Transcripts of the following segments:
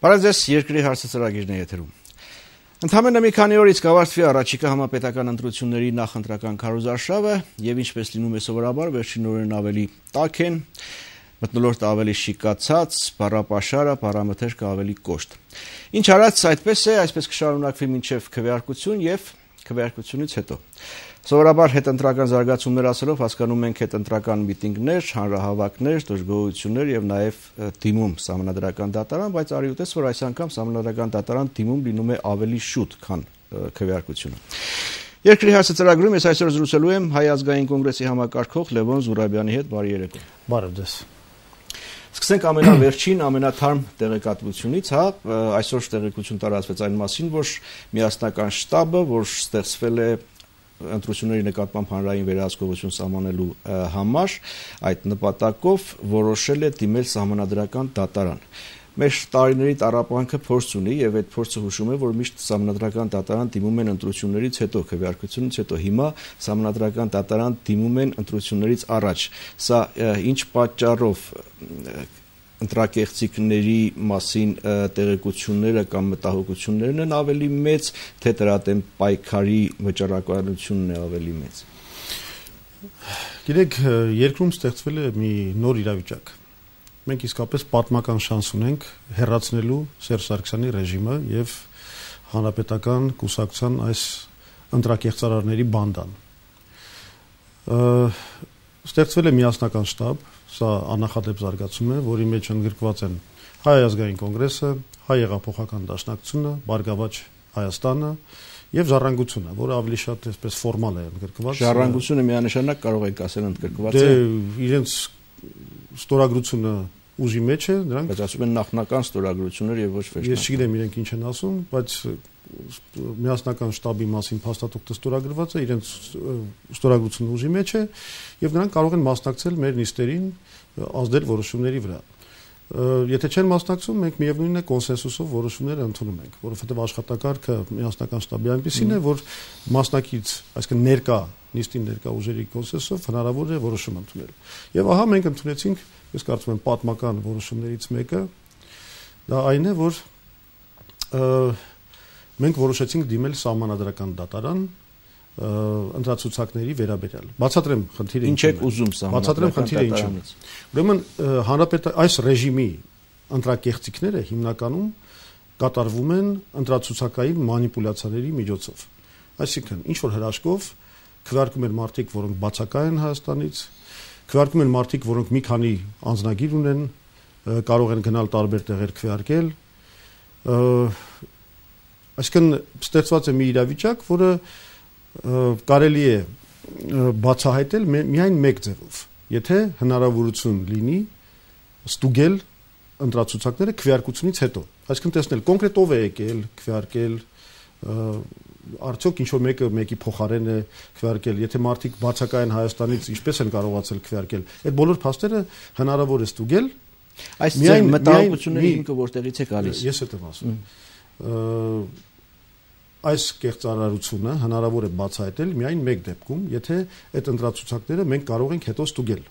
Բարև երկրի հարցը ծրագիրն է եթերում։ Ընդամենը մի քանի օրից կավարտվի առաջիկա համապետական ընտրությունների նախընտրական քարոզարշավը եւ ինչպես լինում է սովորաբար վերջին օրերն ավելի տաք են, մթնոլորտը ավելի շիկացած, բառապաշարը, բառամթերքը ավելի կոշտ։ Ինչ արած այդպես է, այսպես կշարունակվի մինչեւ քվեարկություն եւ քվեարկությունից հետո։ Սովորաբար հետընտրական զարգացումներ ասելով հասկանում ենք հետընտրական միտինգներ, հանրահավաքներ, դժգոհություններ եւ նաեւ դիմում սահմանադրական դատարան, բայց արի ուտես, որ այս անգամ սահմանադրական դատարան դիմում լինում է ավելի շուտ, քան քվեարկությունը։ Երկրի հարցը ծրագրում ես այսօր զրուցելու եմ Հայ ազգային կոնգրեսի համակարգող Լևոն Զուրաբյանի հետ, բարի երեկո։ Բարև ձեզ։ Սկսենք ամենավերջին, ամենաթարմ տեղեկատվությունից, այսօր տեղեկություն տարածվեց այն մասին, որ միասնական շտաբը, որ ստեղծվել է ընտրությունների նկատմամբ հանրային վերահսկողություն սահմանելու համար, այդ նպատակով որոշել է դիմել սահմանադրական դատարան։ Մեր տարիների տառապանքը փորձ ունի եւ այդ փորձը հուշում է, որ միշտ սահմանադրական դատարան դիմում են ընտրություններից հետո, քվեարկությունից հետո, հիմա սահմանադրական դատարան դիմում են ընտրություններից առաջ։ Սա ինչ պատճառով ընտրակեղծիքների մասին տեղեկությունները կամ մտահոգություններն են ավելի մեծ, թե դրա դեմ պայքարի վճռականությունն է ավելի մեծ։ Գիտեք, երկրում ստեղծվել է մի նոր իրավիճակ։ Մենք իսկապես պատմական շանս ունենք հեռացնելու Սերժ Սարգսյանի ռեժիմը եւ հանրապետական կուսակցության այս ընտրակեղծարարների բանդան։ Ստեղծվել է միասնական շտաբ, սա աննախադեպ զարգացում է, որի մեջ ընդգրկված են Հայ ազգային կոնգրեսը, Հայ հեղափոխական դաշնակցությունը, Բարգավաճ Հայաստանը եւ Ժառանգությունը, որը ավելի շատ այսպես ֆորմալ է ընդգրկված։ Ժառանգությունը միանշանակ կարող ենք ասել ընդգրկված է։ Դե իրենց ստորագրությունը ուժի մեջ է, նրանք բայց ասում են նախնական ստորագրություններ եւ ոչ վերջնական։ Ես չգիտեմ իրենք ինչ են ասում, բայց միասնական շտաբի մասին փաստաթուղթը ստորագրված է, իրենց ստորագրությունը ուժի մեջ է եւ նրանք կարող են մասնակցել մեր նիստերին, ազդել որոշումների վրա։ Եթե չեն մասնակցում, մենք միևնույնն է կոնսենսուսով որոշումներ ընդունում ենք, որովհետեւ աշխատակարգը միասնական շտաբի այնպեսին է, որ մասնակից, այսինքն ներկա նիստին ներկա ուժերի կոնսենսուսով հնարավոր է որոշում ընդունել։ Եվ ահա մենք ընդունեցինք, ես կարծում եմ, պատմական որոշումներից մեկը, դա այն է, որ մենք որոշեցինք դիմել սահմանադրական դատարան ընտրացուցակների վերաբերյալ։ Բացատրեմ խնդիրը ինչ եք ուզում սահմանադրական դատարանից։ Ուրեմն այս ռեժիմի ընտրակեղծիքները հիմնականում կատարվում են ընտրացուցակային մանիպուլյացիաների միջոցով։ Այսինքն, ինչ որ հրաշքով քվեարկում են մարդիկ, որոնք բացակայ են Հայաստանից, քվեարկում են մարդիկ, որոնք մի քանի անձնագիր ունեն, կարող են գնալ տարբեր տեղեր քվեարկել։ Այսինքն ստեղծված է մի իրավիճակ, որը կարելի է բացահայտել միայն մեկ ձևով, եթե հնարավորություն լինի ստուգել ընտրացուցակները քվեարկությունից հետո, այսինքն տեսնել կոնկրետ ով է եկել քվեարկել, արդյոք ինչ որ մեկը մեկի փոխարեն է քվեարկել, եթե մարդիկ բացակայ են Հայաստանից, ինչպես են կարողացել քվեարկել, այդ բոլոր փաստերը հնարավոր է ստուգել։ Այս մտահոգությունների ինքը որտեղից է գալիս։ Ես եմ ասում։ Այս կեղծարարությունը հնարավոր է բացահայտել միայն մեկ դեպքում, եթե այդ ընտրացուցակները մենք կարող ենք հետո ստուգել։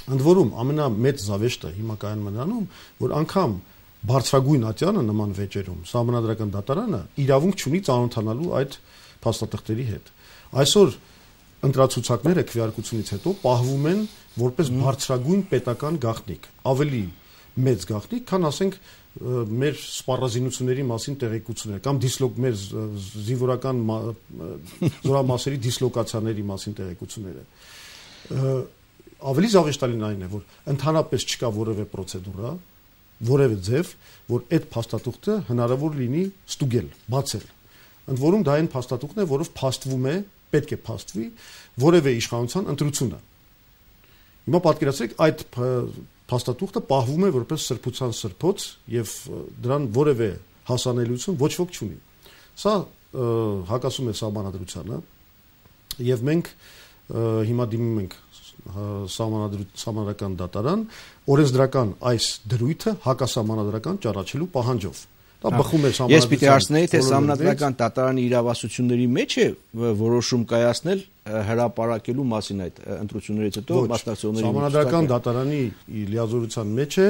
Ընդ որում ամենամեծ զավեշտը հիմա կայանում է նրանում, որ անգամ բարձրագույն ատյանը նման վեճերում սահմանադրական դատարանը իրավունք չունի ծանոթանալու այդ փաստաթղթերի հետ։ Այսօր ընտրացուցակները քվեարկությունից հետո պահվում են որպես բարձրագույն պետական գաղտնիք, ավելի մեծ գաղտնիք, քան ասենք մեր սպառազինությունների մասին տեղեկություններ կամ մեր զինվորական զորամասերի դիսլոկացիաների մասին տեղեկությունները։ Ավելի զավեշտալին այն է, որ ընդհանրապես չկա որևէ պրոցեդուրա, որևէ ձև, որ այդ փաստաթուղթը հնարավոր լինի ստուգել, բացել։ Ընդ որում դա այն փաստաթուղթն է, որով փաստվում է, պետք է փաստվի որևէ իշխանության ընտրությունը։ Հիմա պատկերացրեք, այդ փաստաթուղթը պահվում է որպես սրբության սրբոց եւ դրան որևէ հասանելիություն ոչ ոք չունի։ Սա հակասում է սահմանադրությանը եւ մենք հիմա դիմում ենք սահմանադրական դատարան օրենսդրական այս դրույթը հակասահմանադրական ճառաչելու պահանջով։ Դա բխում է Ես պիտի հարցնեի, թե Սահմանադրական դատարանի իրավասությունների մեջ է որոշում կայացնել հրապարակելու մասին այդ ընտրություններից հետո մասնակցողների։ Սահմանադրական դատարանի լիազորության մեջ է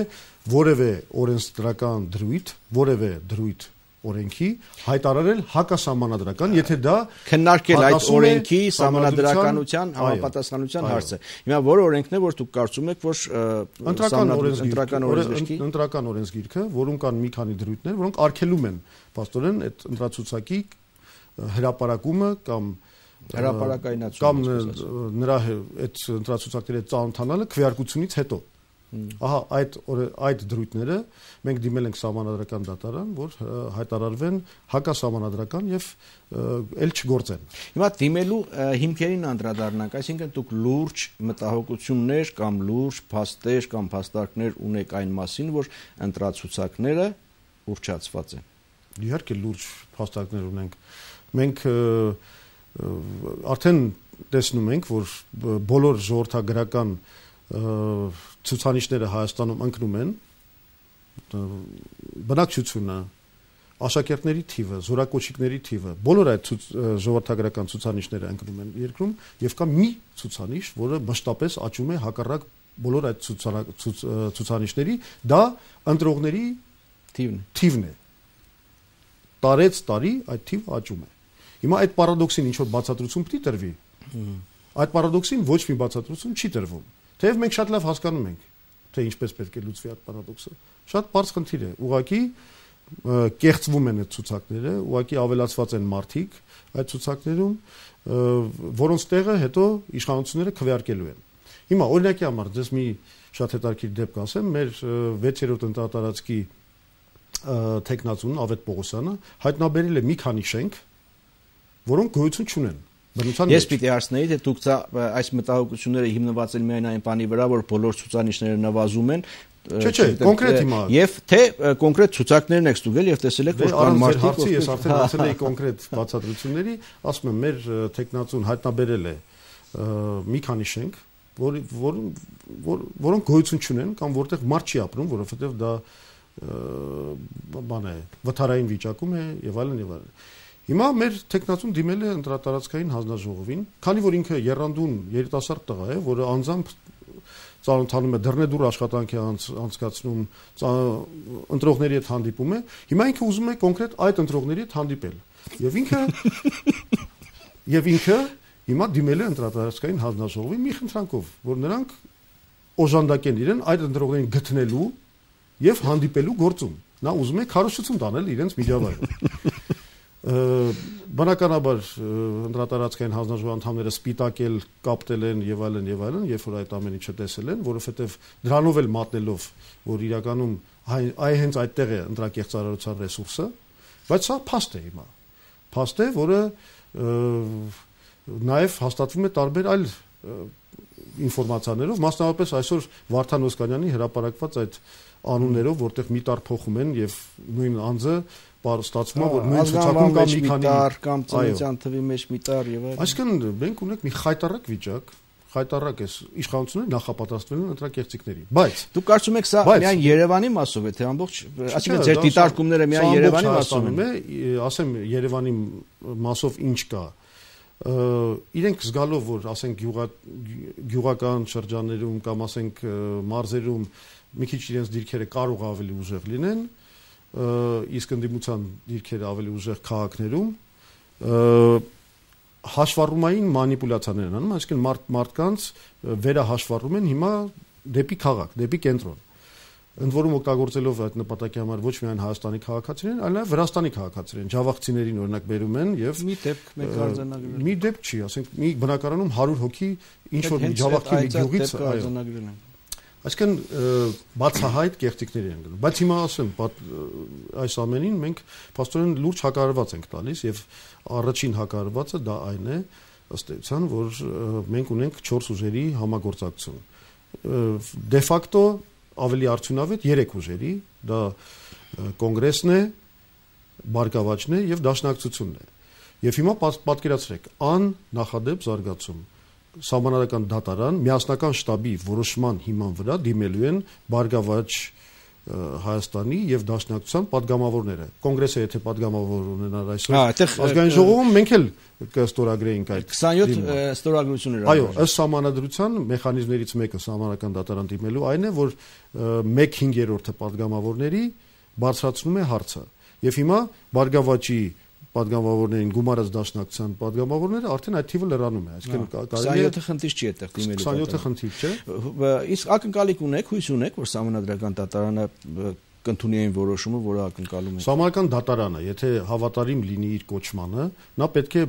որևէ օրենսդրական դրույթ, որևէ դրույթ օրենքի հայտարարել հակասահմանադրական, եթե դա քննարկել այդ օրենքի սահմանադրականության համապատասխանության հարցը։ Հիմա որ օրենքն է, որ դուք կարծում եք, որ ընտրական օրենսգիրքը, որում կան մի քանի դրույթներ, որոնք արգելում են փաստորեն այդ ընտրացուցակի հրապարակումը կամ հրապարակայնացումը կամ նրա այդ ընտրացուցակների ծանոթանալը քվեարկությունից հետո։ Ահա այդ դրույթները մենք դիմել ենք Սահմանադրական դատարան, որ հայտարարվեն հակասահմանադրական եւ ել չգործեն։ Հիմա դիմելու հիմքերին անդրադառնանք, այսինքն դուք լուրջ մտահոգություններ կամ լուրջ փաստեր կամ փաստարկներ ունեք այն մասին, որ ընտրացուցակները ուռճացված են։ Իհարկե լուրջ փաստարկներ ունենք։ Մենք արդեն տեսնում ենք, որ բոլոր ժողովրդագրական ցուցանիշները Հայաստանում ընկնում են, բնակչությունը, աշակերտների թիվը, զորակոչիկների թիվը, բոլոր այդ ժողովրդագրական ցուցանիշները ընկնում են երկրում եւ կա մի ցուցանիշ, որը մշտապես աճում է հակառակ բոլոր այդ ցուցանիշների, դա ընտրողների թիվն է։ Տարեց տարի այդ թիվը աճում է։ Հիմա այդ պարադոքսին ինչ որ բացատրություն պետք է տրվի։ Այդ պարադոքսին ոչ մի բացատրություն չի տրվում։ Թեև մենք շատ լավ հասկանում ենք, թե ինչպես պետք է լուծվի այդ պարադոքսը։ Շատ բարձ խնդիր է։ Ուղղակի կեղծվում են այդ ցուցակները, ուղղակի ավելացված են մարդիկ այդ ցուցակներում, որոնց տեղը հետո իշխանությունները քվեարկելու են։ Հիմա օրինակի համար ձեզ մի շատ հետաքրքիր դեպք ասեմ, մեր 6-րդ ընտրատարածքի տեխնացուն Ավետ Պողոսյանը հայտնաբերել է մի քանի շենք, որոնք գոյություն չունեն։ Ես պիտի հարցնեի, թե դուք այս մտահոգությունները հիմնված են միայն այն բանի վրա, որ բոլոր ցուցանիշները նվազում են, Չէ, կոնկրետ հիմա։ Եվ թե կոնկրետ ցուցակներն եք ստուգել եւ տեսել եք, որ կան մարդիկ, ես արդեն ասել էի կոնկրետ բացատրությունների, ասում եմ, մեր տեխնացուն հայտնաբերել է մի քանի շենք, որոնք գոյություն չունեն կամ որտեղ մարդ չի ապրում, որովհետեւ դա բան է, վթարային վիճակում է եւ այլն եւ այլն։ Հիմա մեր տեխնացուն դիմել է ընտրատարածքային հանձնաժողովին, քանի որ ինքը երանդուն երիտասարդ տղա է, որը անձամբ ծանոթանում է դռնեդուր աշխատանք է անցկացնում, ընտրողների հետ հանդիպում է, հիմա ինքը ուզում է կոնկրետ այդ ընտրողների հետ հանդիպել։ Եվ ինքը հիմա դիմել է ընտրատարածքային հանձնաժողովին մի խնդրանքով, որ նրանք օժանդակեն իրեն այդ ընտրողներին գտնելու եւ հանդիպելու գործում։ Նա ուզում է քարոզություն տանել իրենց միջավայրում։ Բնականաբար ընտրատարածքային հանձնաժողովի անդամները սպիտակել, կապտել են եւ այլն, երբ որ այդ ամեն ինչը տեսել են, որովհետեւ դրանով էլ մատնելով, որ իրականում հենց այդտեղ է ընտրակեղծարարության ռեսուրսը, բայց սա փաստ է հիմա։ Փաստ է, որը նաեւ հաստատվում է տարբեր այլ ինֆորմացիաներով, մասնավորապես այսօր Վարդան Օսկանյանի հրապարակված այդ անուններով, որտեղ միտար փոխում են եւ նույն անձը ստացվում է, որ նույն ցուցակում կա մի քանի կամ ծննդյան թվի մեջ միտար եւ այլն։ Այսինքն մենք ունենք մի խայտարակ վիճակ, խայտարակ է իշխանությունները նախապատրաստվել են ընտրակեղծիքների։ Բայց դուք կարծում եք սա միայն Երևանի մասով է, թե ամբողջ, այսինքն ձեր դիտարկումները միայն Երևանի մասով են։ Ասեմ Երևանի մասով ինչ կա։ Իրենք զգալով, որ ասենք գյուղական շրջաններում կամ ասենք մարզերում մի քիչ իրենց դիրքերը կարող ավելի ուժեղ լինեն, իսկ ընդդիմության դիրքերը ավելի ուժեղ քաղաքներում հաշվառումային մանիպուլյացիաներ են անում, այսինքն մարդկանց վերահաշվառում են հիմա դեպի քաղաք, դեպի կենտրոն։ Ընդ որում օգտագործելով այդ նպատակի համար ոչ միայն Հայաստանի քաղաքացիներին, այլ նաև Վրաստանի քաղաքացիներին, ջավախցիներին օրինակ բերում են եւ մի դեպք մեկ արձանագրել։ Մի դեպք չի, ասենք մի բնակարանում 100 հոգի ինչ որ ջավախքի մի գյուղից արձանագրել են։ Այսինքն բացահայտ կեղծիքների են գնում։ Բայց հիմա ասեմ, այս ամենին մենք փաստորեն լուրջ հակարված ենք տալիս եւ առաջին հակարվածը դա այն է, ըստ էության, որ մենք ունենք 4 ուժերի համագործակցություն։ Դե ֆակտո ավելի արդյունավետ 3 ուժերի, դա կոնգրեսն է, բարգավաճն է եւ դաշնակցությունն է։ Եվ հիմա պատկերացրեք, աննախադեպ զարգացում Սահմանադրական դատարան միասնական շտաբի որոշման հիման վրա դիմելու են բարգավաճ Հայաստանի եւ Դաշնակցության падգամավորները։ Կոնգրեսը եթե падգամավոր ունենար այսօր, ազգային ժողովում մենք էլ կստորագրեինք այդ 27 ստորագրություններ։ Այո, ըստ համանadrության մեխանիզմներից մեկը սահմանական դատարան դիմելու այն է, որ 1/5 падգամավորների բարձրացնում է հարցը։ Եվ հիմա Բարգավաճի падգամավորներին գումարած Դաշնակցության падգամավորները արդեն այդ թիվը լրանում է, այսինքն կարելի է 27 խնդիր չի այդտեղ դիմելու։ 27 խնդիր չէ։ Իսկ ակնկալիք ունեք, հույս ունեք, որ Սահմանադրական դատարանը կընդունի այն որոշումը, որը ակնկալում եք։ Սահմանադրական դատարանը, եթե հավատարիմ լինի իր կոչմանը, նա պետք է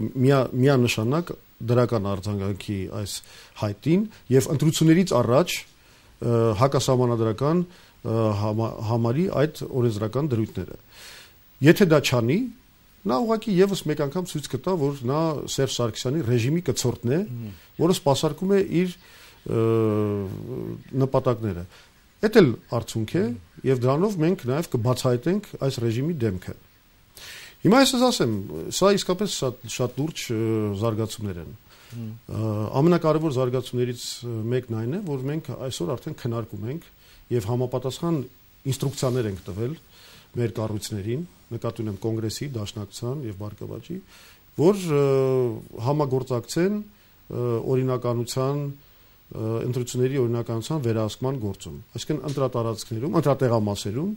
միանշանակ դրական արձագանքի այս հայտին եւ ընտրություններից առաջ հակասահմանադրական համարի այդ օրենսդրական դրույթները։ Եթե դա չանի, նա ուղղակի եւս մեկ անգամ ցույց կտա, որ նա Սերժ Սարգսյանի ռեժիմի կցորդն է, որը սպասարկում է իր նպատակները։ Դա էլ արդյունք է եւ դրանով մենք նաեւ կբացահայտենք այս ռեժիմի դեմքը։ Հիմա ես ասեմ, սա իսկապես շատ լուրջ զարգացումներ են։ Ամենակարևոր զարգացումներից մեկն այն է, որ մենք այսօր արդեն քննարկում ենք եւ համապատասխան ինստրուկցիաներ ենք տվել մեր կառույցներին, նկատի ունեմ Կոնգրեսի, Դաշնակցության եւ Բարգավաճի, որ համագործակցեն օրինականության ընտրությունների օրինականության վերահսկման գործում։ Այսինքն ընտրատարածքներում, ընտրատեղամասերում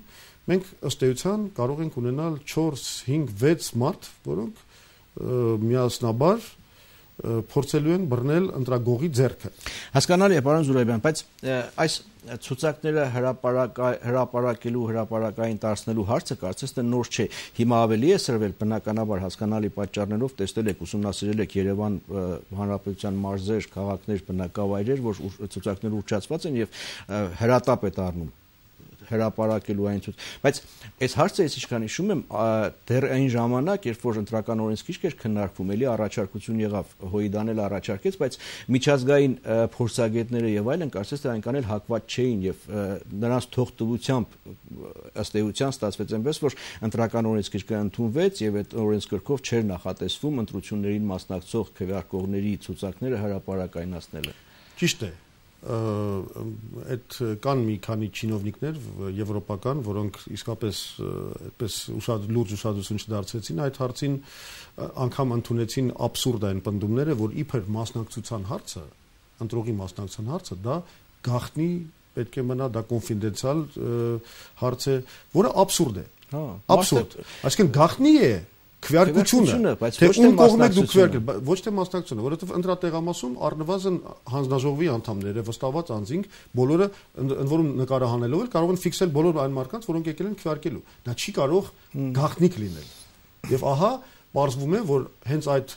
մենք ըստ էության կարող ենք ունենալ 4, 5, 6 մարդ, որոնք միասնաբար փորձելու են բռնել ընտրագողի ձեռքը։ Հասկանալի է, պարոն Զուրաբյան, բայց այս ցուցակները հրապարակելու, հրապարակային դարձնելու հարցը կարծես թե նոր չէ։ Հիմա ավելի է սրվել, բնականաբար հասկանալի պատճառներով տեսնել եք, ուսումնասիրել եք Երևան Հանրապետության մարզեր, քաղաքներ, բնակավայրեր, որ ցուցակները ուռճացված են եւ հրատապ է դառնում հրապարակելու այն ցույց, բայց այս հարցը ես ինչքան հիշում եմ, դեռ այն ժամանակ, երբ որ ընտրական օրենսգիրք էր քննարկվում, էլի առաջարկություն եղավ, Հոյդան էլ առաջարկեց, բայց միջազգային փորձագետները եւ այլն կարծես թե այնքան էլ հակված չէին եւ նրանց թողտվությամբ ըստ էության ստացվեց այնպես, որ ընտրական օրենսգիրքը ընդունվեց եւ այդ օրենսգրքով չէր նախատեսվում ընտրություններին մասնակցող քվեարկողների ցուցակները հրապարակայնացնելը։ Ճիշտ է։ Այդ կան մի քանի չինովնիկներ եվրոպական, որոնք իսկապես այդպես լուրջ ուշադրություն չդարձրեցին այդ հարցին, անգամ ընդունեցին աբսուրդ այն պնդումները, որ իբր մասնակցության հարցը, ընտրողի մասնակցության հարցը դա գաղտնի պետք է մնա, դա կոնֆիդենցիալ հարց է, որը աբսուրդ է։ Աբսուրդ։ Այսինքն գաղտնի է քվեարկությունը, թե ում կողմ եք դուք քվեարկել, ոչ թե մասնակցությունը, որովհետև ընտրատեղամասում առնվազն հանձնաժողովի անդամները, վստահված անձինք, բոլորը ընդ որում նկարահանելով էլ կարող են ֆիքսել բոլոր այն մարդկանց, որոնք եկել են քվեարկելու։ Դա չի կարող գաղտնիք լինել։ Եվ ահա պարզվում է, որ հենց այդ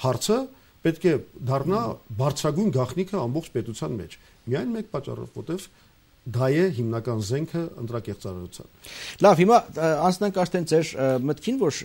հարցը պետք է դառնա բարձրագույն գաղտնիքը ամբողջ պետության մեջ։ Միայն մեկ պատճառով, որտեվ դա է հիմնական զենքը ընտրակեղծարարության։ Լավ, հիմա անցնենք արդեն ձեր մտքին, որ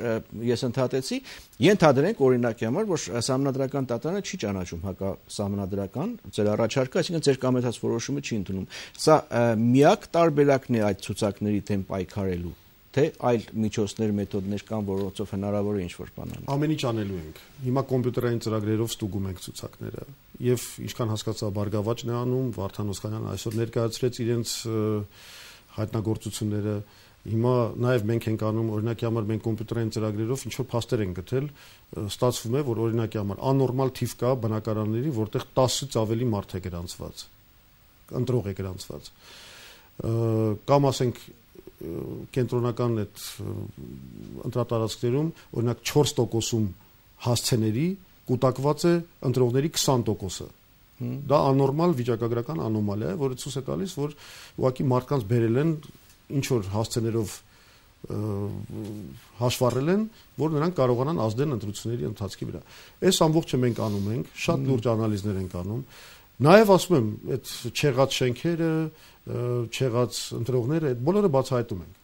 ես ընդհատեցի, ենթադրենք օրինակի համար, որ Սահմանադրական դատարանը չի ճանաչում հակասահմանադրական ձեր առաջարկը, այսինքն ձեր կամեցած որոշումը չի ընդունում։ Սա միակ տարբերակն է այդ ցուցակների դեմ պայքարելու, թե այլ միջոցներ, մեթոդներ կան, որոնցով հնարավոր է ինչ-որ բան անել։ Ամեն ինչ անելու ենք։ Հիմա կոմպյուտերային ծրագրերով ստուգում ենք ցուցակները։ Եվ ինչքան հասկացա Բարգավաճն է անում, Վարդան Օսկանյանը այսօր ներկայացրեց իրենց հայտնագործությունները։ Հիմա նաև մենք ենք անում, օրինակի համար մենք կոմպյուտերային ծրագրերով ինչ-որ փաստեր ենք գտել, ստացվում է, որ օրինակի համար աննորմալ թիվ կա բնակարանների, որտեղ 10-ից ավելի մարդ է գրանցված, ընտրող է գրանցված։ Կամ ասենք կենտրոնական այդ ընտրատարածքներում օրինակ 4%-ում հասցեների կուտակված է ընտրողների 20%-ը։ Դա աննորմալ վիճակագրական անոմալիա է, որը ցույց է տալիս, որ ուղղակի մարդկանց բերել են ինչ որ հասցեներով հաշվառել են, որ նրանք կարողանան ազդել ընտրությունների ընթացքի վրա։ Այս ամբողջը մենք անում ենք, շատ լուրջ անալիզներ ենք անում։ Նաև ասում եմ, այդ չեղած շենքերը, չեղած ընտրողները, այդ բոլորը բացահայտում ենք։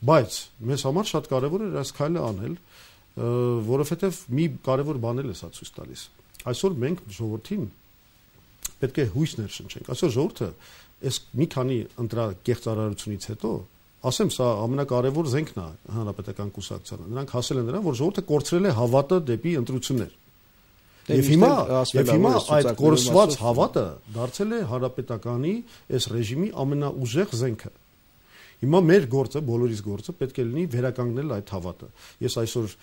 Բայց մեզ համար շատ կարևոր է այս քայլը անել, որովհետև մի կարևոր բան է սա ցույց տալիս։ Այսօր մենք ժողովրդին պետք է հույս ներշնչենք։ Այսօր ժողովուրդը այս մի քանի ընտրակեղծարարությունից հետո, ասեմ, սա ամենակարևոր զենքն է հանրապետական կուսակցությանը։ Նրանք հասել են նրան, որ ժողովուրդը կորցրել է հավատը դեպի ընտրություններ։ Եվ հիմա այդ կորսված հավատը դարձել է հանրապետականի այս ռեժիմի ամենաուժեղ զենքը։ Հիմա մեր գործը, բոլորիս գործը պետք է լինի վերականգնել այդ հավատը։ Ես այսօր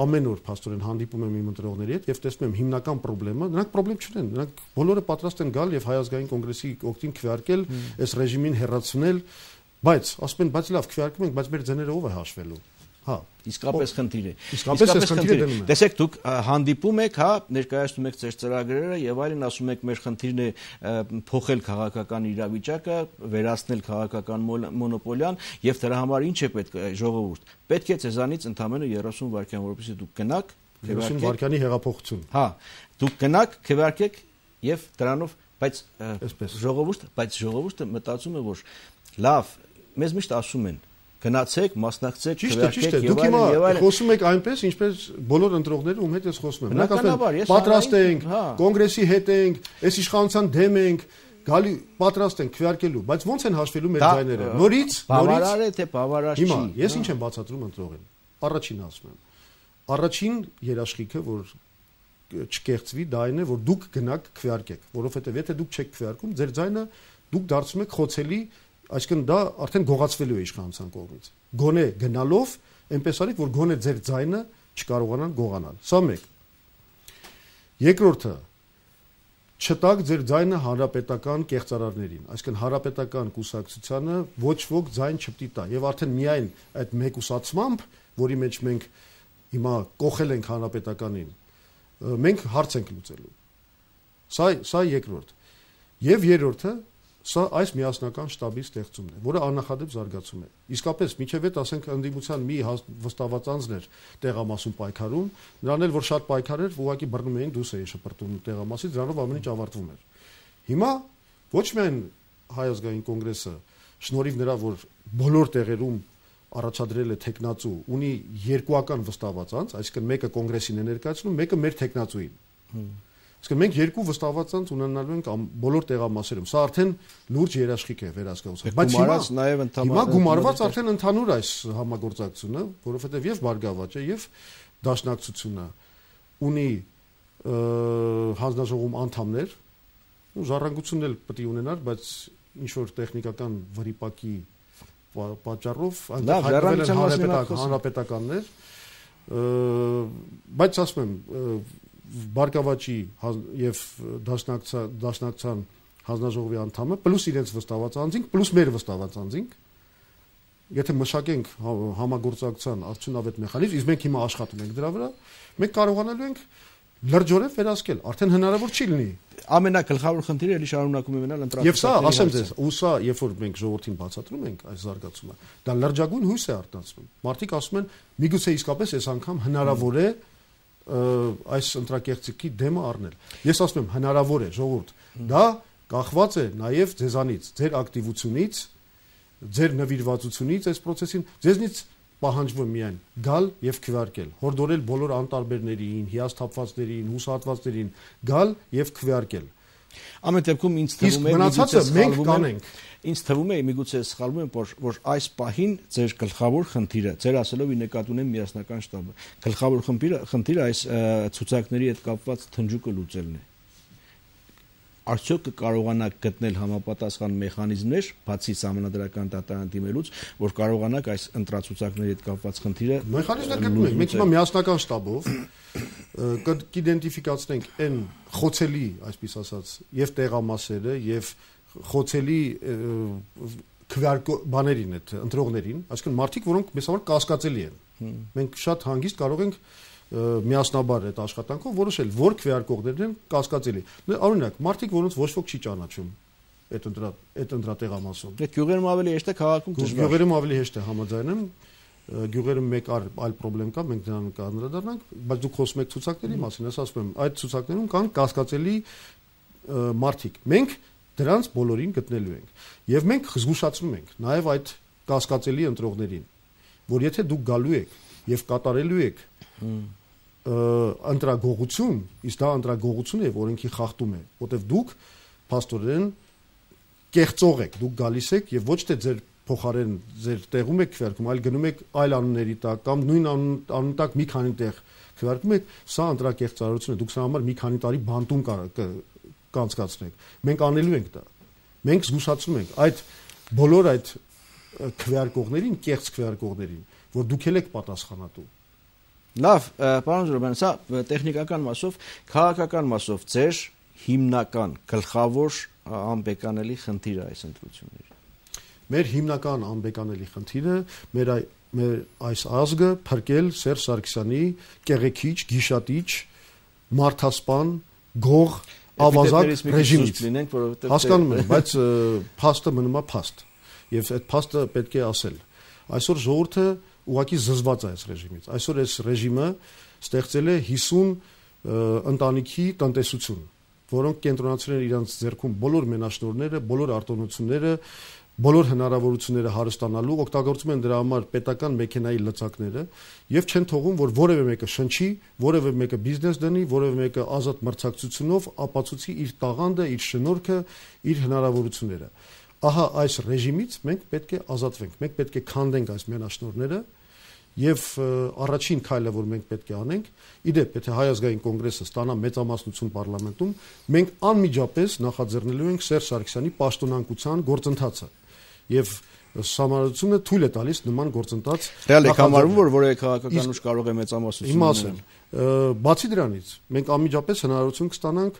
ամեն օր փաստորեն հանդիպում եմ իմ ընտրողների հետ եւ տեսնում եմ հիմնական խնդրումը, նրանք խնդրեմ չունեն, նրանք բոլորը պատրաստ են գալ եւ Հայ ազգային կոնգրեսի օգտին քվեարկել, այս ռեժիմին հեռացնել, բայց ասում են, բայց լավ, քվեարկում ենք, բայց մեր ձեները ով է հաշվելու։ Հա, իսկապես խնդիր է։ Իսկապես խնդիր է։ Տեսեք, դուք հանդիպում եք, հա, ներկայացնում եք ձեր ծրագրերը եւ այլն, ասում եք, մեր խնդիրն է փոխել քաղաքական իրավիճակը, վերացնել քաղաքական մոնոպոլիան եւ դրա համար ինչ է պետք ժողովուրդ։ Պետք է ձեզանից ընդամենը 30 վայրկյան, որովհետեւ դուք գնաք, 30 վայրկյանի հեղափոխություն։ Հա, դուք գնաք, քվեարկեք եւ դրանով, բայց ժողովուրդը մտածում է, որ լավ, մեզ միշտ ասում են գնացեք, մասնակցեք, քվեարկեք եւ այլն եւ այլն։ Խոսում եք այնպես, ինչպես բոլոր ընտրողները ում հետ ես խոսում եմ։ Նրանք ասում են, պատրաստ ենք, կոնգրեսի հետ ենք, այս իշխանության դեմ ենք, գալի պատրաստ ենք քվեարկելու, բայց ո՞նց են հաշվելու մեր ձայները։ Նորից բավարար է թե բավարար չի։ Հիմա ես ինչ եմ բացատրում ընտրողին։ Առաջին ասում եմ։ Առաջին երաշխիքը, որ չկեղծվի, դա այն է, որ դուք գնաք քվեարկեք, որովհետեւ եթե դուք չեք քվեարկում, ձեր ձայնը դուք դարձում եք խոցելի, այսինքն դա արդեն գողացվելու է իշխանության կողմից։ Գոնե գնալով, այնպես արեք, որ գոնե ձեր ձայնը չկարողանան գողանալ։ Սա մեկ։ Երկրորդը, չտակ ձեր ձայնը հանրապետական կեղծարարներին, այսինքն հանրապետական կուսակցությանը ոչ ոք ձայն չպետք է տա, եւ արդեն միայն այդ մեկուսացմամբ, որի մեջ մենք հիմա կողել ենք հանրապետականին, մենք հարց ենք լուծելու։ Սա երկրորդ։ Եվ երրորդը, սա այս միասնական շտաբի ստեղծումն է, որը աննախադեպ զարգացում է։ Իսկապես, միջև այդ ասենք ընդդիմության մի վստահված անձներ տեղամասում պայքարում, նրան էլ որ շատ պայքար էր, ուղղակի բռնում էին դուրս էի շպրտում տեղամասից, դրանով ամեն ինչ ավարտվում էր։ Հիմա ոչ միայն Հայ ազգային կոնգրեսը, շնորհիվ նրա, որ բոլոր տեղերում առաջադրել է տեխնացու, ունի երկուական վստահված անձ, այսինքն մեկը կոնգրեսին է ներկայացնում, մեկը մեր տեխնացուին։ Իսկ մենք երկու վստահված անձ ունենալու ենք բոլոր տեղամասերում։ Սա արդեն լուրջ երաշխիք է վերահսկողության։ Բայց հիմա գումարված արդեն ընդհանուր այս համագործակցությունը, որովհետև եւ Բարգավաճը եւ Դաշնակցությունը ունի հանձնաժողովում անդամներ, ու ժառանգությունն էլ պետք է ունենար, բայց ինչ որ տեխնիկական վրիպակի պատճառով այնտեղ հայտնվել են հանրապետականներ, բայց ասում եմ Բարգավաճի եւ Դաշնակցության հանձնաժողովի անդամը պլյուս իրենց վստահված անձինք, պլյուս մեր վստահված անձինք, եթե մշակենք համագործակցության արդյունավետ մեխանիզմ, իսկ մենք հիմա աշխատում ենք դրա վրա, մենք կարողանալու ենք լրջորեն վերահսկել, արդեն հնարավոր չի լինի։ Ամենագլխավոր խնդիրը էլի շարունակում է մնալ ընտրական։ Եվ սա, ասեմ ձեզ, ու սա, երբ որ մենք ժողովրդին բացատրում ենք այս զարգացումը, դա լրջագույն հույս է արտնացնում։ Մարդիկ ասում են, միգուցե իսկապես այս անգամ հնարավոր է այս ընտրակեղծիքի դեմը առնել։ Ես ասում եմ, հնարավոր է, ժողովուրդ։ Դա կախված է նաև ձեզանից, ձեր ակտիվությունից, ձեր նվիրվածությունից այս process-ին, ձեզնից պահանջվում միայն գալ եւ քվեարկել, հորդորել բոլոր անտարբերներին, հիասթափվածներին, հուսահատվածներին գալ եւ քվեարկել։ Ամեն դեպքում ինձ թվում է մնացածը մենք կանենք։ Ինձ թվում է միգուցե սխալվում եմ, որ այս պահին ձեր գլխավոր խնդիրը, ձեր ասելով ի նկատի ունեմ միասնական շտաբը, գլխավոր խնդիրը այս ցուցակների հետ կապված թնջուկը լուծելն է։ Արդյոք կկարողանաք գտնել համապատասխան մեխանիզմներ, բացի համանդրական դատարան դիմելուց, որ կարողանաք այս ընտրացուցակների հետ կապված խնդիրը մեխանիզմներ գտնում ենք։ Մենք հիմա միասնական շտաբով կիդենտիֆիկացնենք այն խոցելի, այսպես ասած, եւ տեղամասերը, եւ խոցելի բաներին այդ ընտրողներին, այսինքն մարդիկ, որոնք մեզ համար կասկածելի են։ Մենք շատ հանգիստ կարող ենք միասնաբար այդ աշխատանքով որոշել, որ քվեարկողներն են կասկածելի։ Օրինակ, մարդիկ, որոնց ոչ ոք չի ճանաչում այդ ընտրատեղամասում։ Դե գյուղերում ավելի հեշտ է, քաղաքում դժվար։ Գյուղերում ավելի հեշտ է, համաձայն եմ։ Գյուղերում մեկ այլ խնդրեմ կա, մենք դրան կանդրադառնանք, բայց դուք խոսում եք ցուցակների մասին, ես ասում եմ, այդ ցուցակներում կան կասկածելի մարդիկ։ Մենք դրանց բոլորին գտնելու ենք։ Եվ մենք զգուշացնում ենք նաև այդ կասկածելի ընտրողներին, որ եթե դուք գալու եք եւ կատարելու եք ընտրագողություն, իսկ դա ընտրագողություն է, որոնքի խախտում է, որտեվ դուք փաստորեն կեղծող եք, դուք գալիս եք եւ ոչ թե ձեր փոխարեն ձեր տեղում եք քվեարկում, այլ գնում եք այլ անունների տակ կամ նույն անունի տակ մի քանի տեղ քվեարկում եք, սա ընտրակեղծարարություն է, դուք սա համար մի քանի տարի բանտում կանցկացնեք։ Մենք անելու ենք դա։ Մենք զգուշացնում ենք այդ բոլոր այդ քվեարկողներին, կեղծ քվեարկողներին, որ դուք եք պատասխանատու։ Լավ, պարոն Զուրաբյան, սա տեխնիկական մասով, քաղաքական մասով ձեր հիմնական գլխավոր անբեկանելի խնդիրը այս ընտրությունների։ Մեր հիմնական անբեկանելի խնդիրը մեր այս ազգը փրկել Սերժ Սարգսյանի կեղեքիչ, գիշատիչ, մարդասպան, գող, ավազակ ռեժիմից։ Հասկանում եմ, բայց փաստը մնում է փաստ, եւ այդ փաստը պետք է ասել։ Այսօր ժողովուրդը ուղղակի զզված է այս ռեժիմից։ Այսօր այս ռեժիմը ստեղծել է 50 ընտանիքի տնտեսություն, որոնք կենտրոնացրել են իրենց ձեռքում բոլոր մենաշնորհները, բոլոր արտոնությունները, բոլոր հնարավորությունները հարստանալու, օգտագործում են դրա համար պետական մեքենայի լծակները եւ չեն թողում, որ որևէ մեկը շնչի, որևէ մեկը բիզնես դնի, որևէ մեկը ազատ մրցակցությունով ապացուցի իր տաղանդը, իր շնորհքը, իր հնարավորությունները։ Ահա այս ռեժիմից մենք պետք է ազատվենք, մենք պետք է քանդենք այս մենաշնորհները եւ առաջին քայլը, որ մենք պետք է անենք, իդեպ, եթե Հայ ազգային կոնգրեսը ստանա մեծամասնություն պարլամենտում, մենք անմիջապես նախաձեռնելու ենք Սերժ Սարգսյանի պաշտոնանկության գործընթացը եւ Համառությունը թույլ է տալիս նման գործընթաց։ Ռեալ է համարվում, որ որևէ քաղաքական ուժ կարող է մեծամասնություն ունենալ։ Բացի դրանից, մենք անմիջապես հնարավորություն կստանանք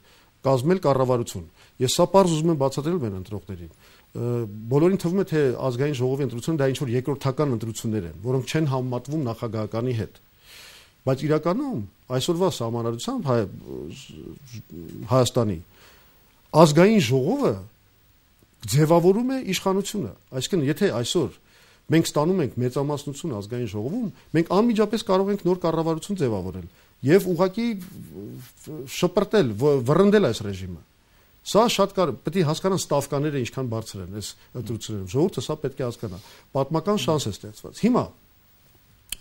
կազմել կառավարություն։ Ես սա պարզ ուզում եմ բացատրել մեր ընտրողներին։ Բոլորին թվում է, թե ազգային ժողովի ընտրությունը դա ինչ-որ երկրորդական ընտրություններ են, որոնք չեն համեմատվում նախագահականի հետ։ Բայց իրականում այսօրվա սահմանադրությամբ Հայաստանի ազգային ժողովը ձևավորում է իշխանությունը։ Այսինքն, եթե այսօր մենք ստանում ենք մեծամասնություն ազգային ժողովում, մենք անմիջապես կարող ենք նոր կառավարություն ձևավորել եւ ուղղակի շպրտել, վռնդել այս ռեժիմը։ Սա շատ պետք է հասկանան ստավկաները ինչքան բարձր են այս ընտրություններում։ Ժողովուրդը սա պետք է հասկանա։ Պատմական շանս է ստեղծված։ Հիմա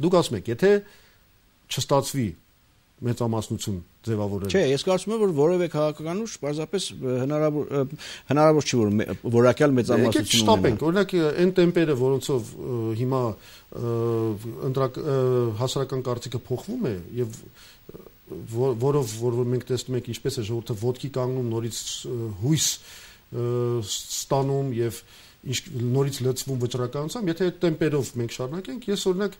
դուք ասում եք, եթե չստացվի մեծամասնություն ձևավորել։ Չէ, ես կարծում եմ, որ որևէ քաղաքական ուժ պարզապես հնարավոր չի, որ որակյալ մեծամասնություն ունենա։ Շտապենք, օրինակ այն տեմպերը, որոնցով հիմա հասարակական կարծիքը փոխվում է եւ որով մենք տեսնում ենք ինչպես է ժողովուրդը ոտքի կանգնում, նորից հույս ստանում եւ նորից լցվում վճռականությամբ, եթե այդ տեմպերով մենք շարունակենք, ես օրինակ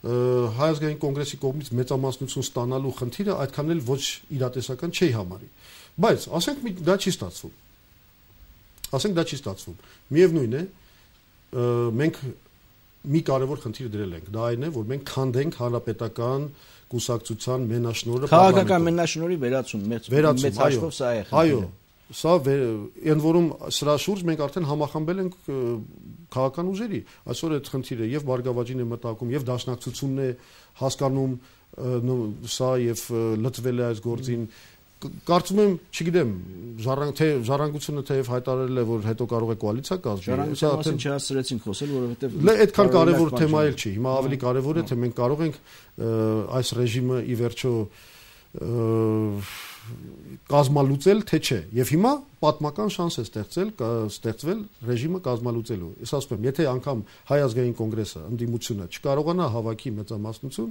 Հայ ազգային կոնգրեսի կողմից մեծամասնություն ստանալու խնդիրը այդքան էլ ոչ իրատեսական չի համարի։ Բայց ասենք դա չի ստացվում։ Միևնույն է, մենք մի կարևոր խնդիր դրել ենք, դա այն է, որ մենք քանդենք հանրապետական կուսակցության մենաշնորհը քաղաքական մենաշնորհի վերացում, մեծ հաշվով սա է խնդիրը։ Այո, սա այն որում սրա շուրջ մենք արդեն համախմբել ենք քաղաքական ուժերի։ Այսօր այդ խնդիրը եւ Բարգավաճին է մտակում, եւ Դաշնակցությունն է հասկանում սա եւ լծվել է այս գործին։ Կարծում եմ, չգիտեմ, ժառանգությունը թեև հայտարարել է, որ հետո կարող է կոալիցիա կազմել։ Ժառանգության չհասցրեցինք խոսել, որովհետեւ այդքան կարևոր թեմա էլ չի։ Հիմա ավելի կարևոր է, թե մենք կարող ենք այս ռեժիմը ի վերջո կազմալուծել, թե չէ։ Եվ հիմա պատմական շանս է ստեղծվել ռեժիմը կազմալուծելու։ Ես ասում եմ, եթե անգամ Հայ ազգային կոնգրեսը ընդդիմությունը չկարողանա հավաքի մեծամասնություն,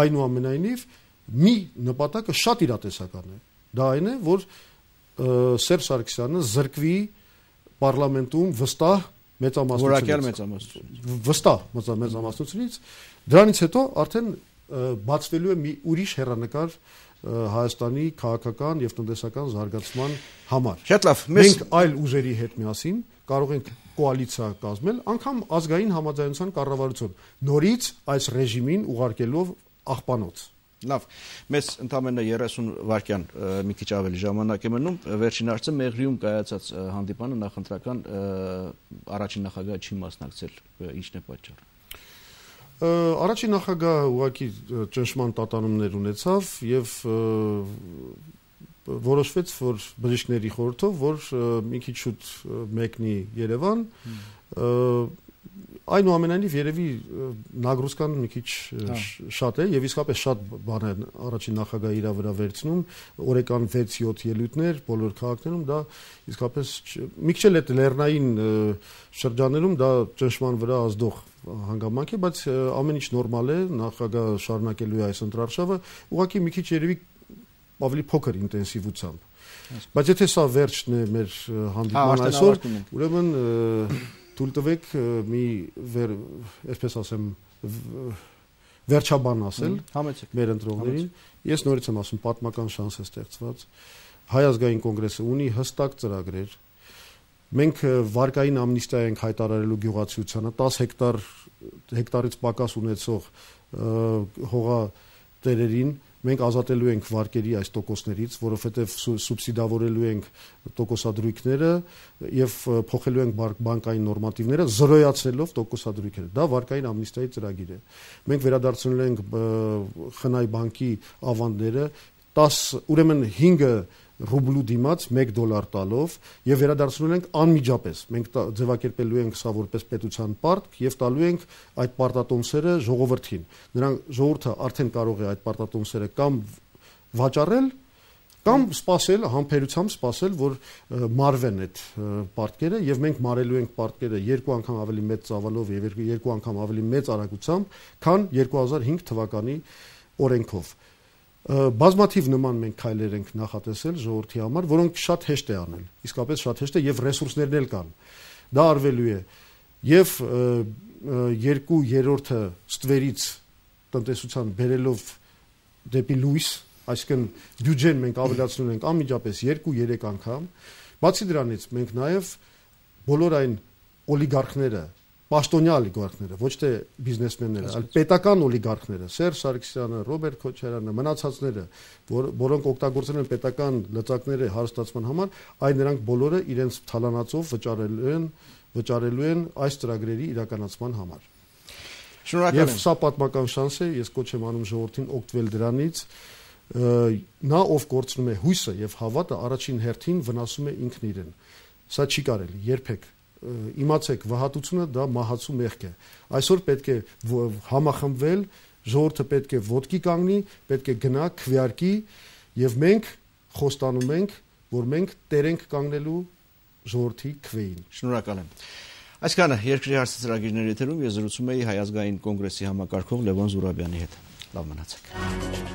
այնուամենայնիվ մի նպատակը շատ իրատեսական է։ Դա այն է, որ Սերժ Սարգսյանը զրկվի պարլամենտում վստահ մեծամասնությունից, դրանից հետո արդեն բացվելու է մի ուրիշ հեռանկար Հայաստանի քաղաքական եւ տնտեսական զարգացման համար։ Շատ լավ, մենք այլ ուժերի հետ միասին կարող ենք կոալիցիա կազմել, անգամ ազգային համաձայնության կառավարություն, նորից այս ռեժիմին ուղարկելով աղբանոց։ Լավ, մեզ ընդամենը 30 վայրկյան մի քիչ ավելի ժամանակ է մնում, վերջին հարցը Մեղրիում կայացած հանդիպանը նախընտրական առաջին նախագահը չի մասնակցել, ինչն է պատճառը։ Առաջին նախագահը ուղղակի ճնշման տատանումներ ունեցավ եւ որոշվեց, որ բժիշկների խորհրդով, որ մի քիչ շուտ մեկնի Երևան, այնուամենայնիվ երևի նագրուսկան մի քիչ շատ է եւ իսկապես շատ բան է առաջին նախագահը իր վրա վերցնում, օրեկան 6-7 ելույթներ բոլոր քաղաքներում, դա իսկապես մի քիչ էլ այդ լեռնային շրջաններում դա ճնշման վրա ազդող հանգամանք է, բայց ամեն ինչ նորմալ է, նախագահը շարունակելու է այս ընտրարշավը, ուղղակի մի քիչ երևի ավելի փոքր ինտենսիվությամբ։ Բայց եթե սա վերջն է մեր հանդիպման այսօր, ուրեմն թույլ տվեք մի այսպես ասեմ վերջաբան ասել մեր ընտրողներին։ Ես նորից եմ ասում, պատմական շանս է ստեղծված։ Հայ ազգային կոնգրեսը ունի հստակ ծրագրեր։ Մենք վարկային ամնիստիա ենք հայտարարելու գյուղացիությանը 10 հեկտարից պակաս ունեցող հողատերերին մենք ազատելու ենք վարկերի այս տոկոսներից, որովհետև սուբսիդավորելու ենք տոկոսադրույքները եւ փոխելու ենք բանկային նորմատիվները, զրոյացնելով տոկոսադրույքները։ Դա վարկային ամնիստիայի ծրագիր է։ Մենք վերադարձնել ենք Խնայ բանկի ավանդները 10, ուրեմն 5 ռուբլու դիմաց $1 տալով եւ վերադարձնում ենք անմիջապես։ Մենք ձևակերպելու ենք սա որպես պետության պարտք եւ տալու ենք այդ պարտատոմսերը ժողովրդին։ Նրանք ժողովուրդը արդեն կարող է այդ պարտատոմսերը կամ վաճառել կամ սպասել, համբերությամբ սպասել, որ մարվեն այդ պարտքերը եւ մենք մարելու ենք պարտքերը 2 անգամ ավելի մեծ ծավալով եւ 2 անգամ ավելի մեծ արագությամբ, քան 2005 թվականի օրենքով։ Բազմաթիվ նման մենք քայլեր ենք նախատեսել ժողովրդի համար, որոնք շատ հեշտ է անել։ Իսկապես շատ հեշտ է եւ ռեսուրսներն էլ կան։ Դա արվելու է եւ 2/3-ը ստվերից տնտեսության բերելով դեպի լույս, այսինքն բյուջեն մենք ավելացնում ենք անմիջապես 2-3 անգամ։ Բացի դրանից մենք նաեւ բոլոր այն օլիգարխները, պաշտոնյա օլիգարխները, ոչ թե բիզնեսմենները, այլ պետական օլիգարխները, Սերժ Սարգսյանը, Ռոբերտ Քոչարյանը, մնացածները, որոնք օգտագործել են պետական լծակները հարստացման համար, այն նրանք բոլորը իրենց թալանացով վճարելու են այս ծրագրերի իրականացման համար։ Շնորհակալ եմ։ Եվ սա պատմական շանս է, ես կոչ եմ անում ժողովրդին օգտվել դրանից։ Նա ով կորցնում է հույսը եւ հավատը, առաջին հերթին վնասում է ինքն իրեն։ Սա չի կարելի երբեք։ Իմացեք, վհատությունը դա մահացու մեղք է։ Այսօր պետք է համախմբվել, ժողովուրդը պետք է ոտքի կանգնի, պետք է գնա քվեարկի եւ մենք խոստանում ենք, որ մենք տեր ենք կանգնելու ժողովրդի քվեին։ Շնորհակալ եմ։ Այսքանը երկրի հարցը ծրագիրների եթերում ես զրուցում էի Հայ ազգային կոնգրեսի համակարգող Լևոն Զուրաբյանի հետ։ Լավ մնացեք։